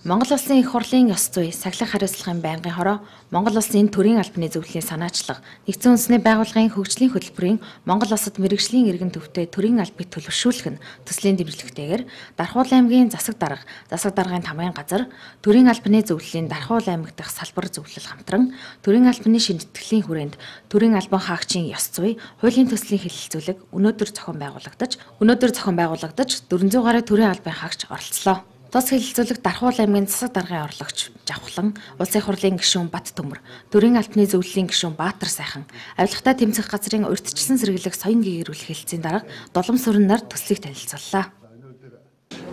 Монгол Улсын их хурлын ёс зүй, сахилга хариуцлагын байнгын хороо, Монгол Улсын төрийн албаны зөвлөлийн санаачлага, нэгдсэн үндэсний байгууллагын хөгжлийн хөтөлбөрийн Монгол Улсад мэргэжлийн иргэн төвтэй төрийн албыг төлөвшүүлэх нь төслийн дэмжлэгтэйгээр Дархуул аймгийн засаг даргын тамгын газар, төрийн албаны зөвлөлийн Дархуул аймаг дахь салбар зөвлөл хамтран, төрийн албаны шинжтгэлийн хүрээнд төрийн албан хаагчийн ёс зүй, хуулийн төслийн хэлэлцүүлэг өнөөдөр зохион байгуулагдаж 400 гаруй төрийн албан хаагч оролцлоо. Тус хэлэлцүүлэг Дархуул аймгийн засаг даргын орлогч Жавхлан, Улсын их хурлын гишүүн Бат Төмөр, төрийн албаны зөвлөлийн гишүүн Баатар Сайхан, авилгатай тэмцэх газрын урьдчилсан сэргийлэх соён гэгэрүүлэх хэлэлцийн дарга Долом Сүрэн нар төслийг танилцууллаа.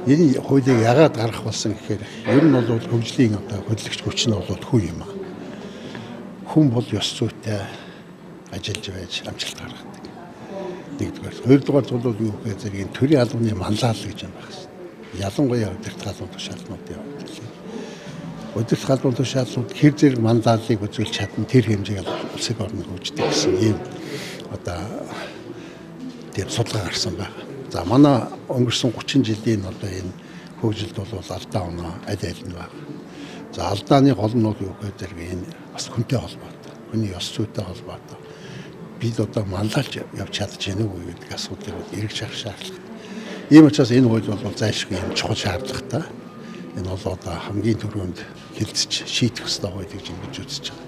Энэ хуулийг яагаад гаргах болсон гэхээр ер нь бол хөгжлийн хөдөлгөгч хүч нь бол хүн юм аа. Хүн бол ёс зүйтэй ажиллаж байж амжилт гаргадаг. Нэгдүгээр. Хоёрдугаар бол юу гэхээр энэ төрийн албаны манлайлал гэж юм байна. Ялангуяа удирдах албан тушаалнуудын явдал. Удирдах албан тушаалнууд хэр зэрэг манлайллыг үзүүлж чадна тэр хэмжээг улсын орны хөгждөг гэсэн ийм тийм судалгаа гарсан байна. За манай өнгөрсөн 30 жилийн энэ хөгжилд бол алдаа оноо аль нь байна. За алдааны гол нь юу гэхээр энэ бас хүнтэй холбоотой. Хүний ёс зүйтэй холбоотой. Бид манлайлж явж чадж гэнэ үү гэдэг асуудлыг эргэж харах шаардлагатай. Ийм учраас энэ хууль бол зайлшгүй юм чухал шаардлагатай. Энэ бол хамгийн түрүүнд хэлцэж шийдэх ёстой хууль гэж ингэж үзэж байгаа.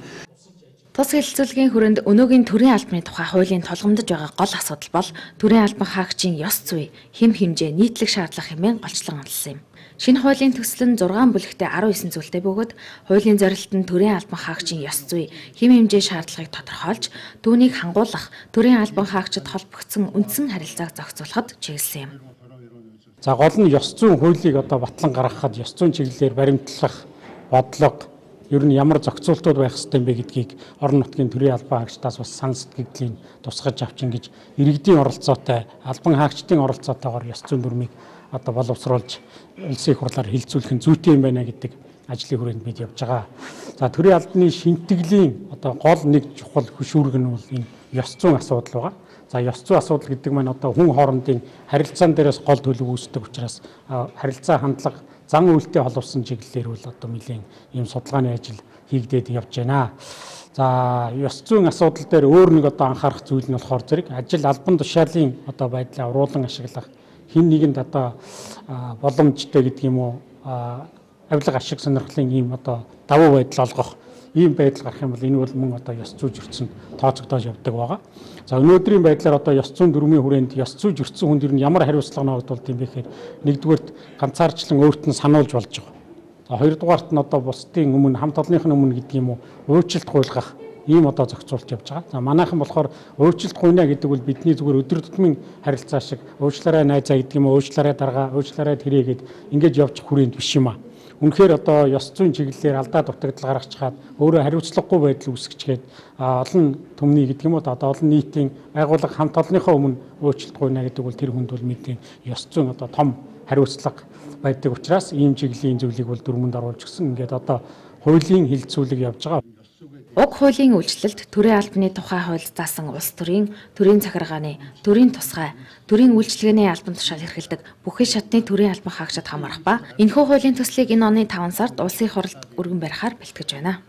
Тус хэлэлцүүлгийн хүрээнд өнөөгийн төрийн албаны тухай хуулийн тулгамдж байгаа гол асуудал бол төрийн албан хаагчийн ёс зүй, хэм хэмжээ, нийтлэг шаардлага хэмээн голчлон онцлсон юм. Шинэ хуулийн төсөл нь 6 бүлэгтээ 19 зүйлтэй бөгөөд хуулийн зорилт нь төрийн албан хаагчийн ёс зүй, хэм хэмжээ шаардлагыг тодорхойлж, түүнийг хангуулах, төрийн албан хаагчид холбогдсон үндсэн харилцааг зохицуулахад чиглэсэн юм. За гол нь ёс зүйн хуулийг батлан гаргахад ёс зүйн чиглэлээр баримтлах бодлого ер нь ямар зохицуултууд байх ёстой юм бэ гэдгийг орон нутгийн төрийн албан хаагчдаас бас сан сэтгэгдлийн тусгаж авч ингэж иргэдийн оролцоотой, албан хаагчдын оролцоотойгоор ёс зүйн дүрмийг боловсруулж улсын их хурлаар хилцүүлэх нь зүйтэй юм байна гэдэг ажлын хүрээнд бид явж байгаа. За төрийн албаны шинтгэлийн гол нэг чухал хөшүүрэг нь бол энэ ёс зүйн асуудал байгаа. За ёс зүйн асуудал гэдэг маань хүн хоорондын харилцаан дээрээс гол төлөв үүсдэг учраас харилцаа хандлага зан үйлтэй холбосон чиглэлээр бол нэлийн ийм судалгааны ажил хийгдээд явж байна. За ёс зүйн асуудал дээр өөр нэг анхаарах зүйл нь болохоор зэрэг ажил албан тушаалын байдлаа уруулан ашиглах хин нэгэнд боломжтой гэдэг юм уу авилга ашиг сонирхлын ийм давуу байдал олгох ийм байдал гарах юм бол энэ бол мөн ёс зүй зөрчсөнд тооцогдож явдаг байгаа. За өнөөдрийн байдлаар ёс зүйн дүрмийн хүрээнд ёс зүй зөрчсөн хүнд ер нь ямар хариуцлага ногдуулт юм бэ гэхээр нэгдүгээрт ганцаарчлан өөрт нь сануулж болж байгаа. За хоёрдугаарт нь бусдын өмнө хамт олонныхын өмнө гэдэг юм уу өөрчлөлт гуйлгах ийм зохицуулт явж байгаа. За манайхан болохоор өөрчлөлт гуйна гэдэг бол бидний зүгээр өдөр тутмын харилцаа шиг уучлаарай найзаа гэдэг юм уу уучлаарай даргаа уучлаарай тэрээгээд ингэж явж хүрээнд биш юм аа. Үнэхээр ёс зүйн чиглэлээр алдаа дутагдал гаргачихад өөрөө хариуцлагагүй байдал үүсгэчгээд олон түмний гэдэг юм уу олон нийтийн байгууллага хамт олонныхоо өмнө өөрчлөлт гуйна гэдэг бол тэр хүнд бол мэдээ ёс зүйн том хариуцлага байдаг учраас ийм чиглэлийн зүйлийг бол дүрмэнд оруулж гисэн ингээд хуулийн хилцүүлэг явж байгаа. Уг хуулийн үйлчлэлд төрийн албаны тухай хуульд заасан улс төрийн захиргааны, төрийн тусгай, төрийн үйлчилгээний албан тушаал эрхэлдэг бүхий шатны төрийн албан хаагчид хамаарах ба энэхүү хуулийн төслийг энэ оны 5 сард улсын их хурлд өргөн барихаар бэлтгэж байна.